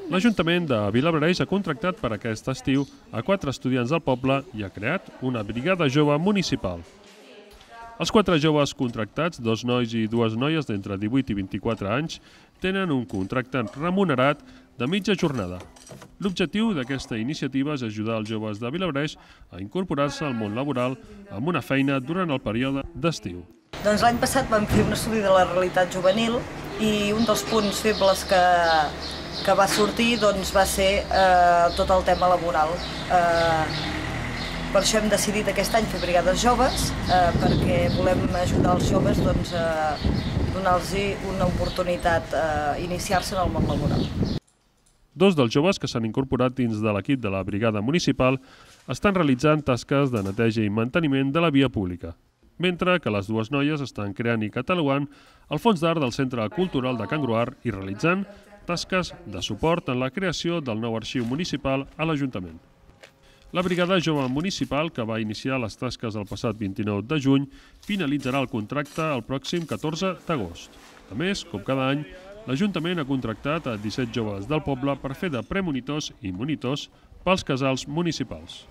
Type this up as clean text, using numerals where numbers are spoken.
L'Ajuntament de Vilablareix ha contractat per aquest estiu a 4 estudiants del poble i ha creat una brigada jove municipal. Els 4 joves contractats, 2 nois i 2 noies d'entre 18 i 24 anys, tenen un contracte remunerat de mitja jornada. L'objectiu d'aquesta iniciativa és ajudar els joves de Vilablareix a incorporar-se al món laboral amb una feina durant el període d'estiu. Doncs l'any passat vam fer un estudi de la realitat juvenil i un dels punts febles que va sortir va ser tot el tema laboral. Per això hem decidit aquest any fer brigades joves, perquè volem ajudar els joves a donar-los una oportunitat a iniciar-se en el món laboral. 2 dels joves que s'han incorporat dins de l'equip de la brigada municipal estan realitzant tasques de neteja i manteniment de la via pública, mentre que les 2 noies estan creant i catalogant el fons d'art del Centre Cultural de Can Gruar i realitzant tasques de suport en la creació del nou arxiu municipal a l'Ajuntament. La brigada jove municipal, que va iniciar les tasques el passat 29 de juny, finalitzarà el contracte el pròxim 14 d'agost. A més, com cada any, l'Ajuntament ha contractat a 17 joves del poble per fer de premonitors i monitors pels casals municipals.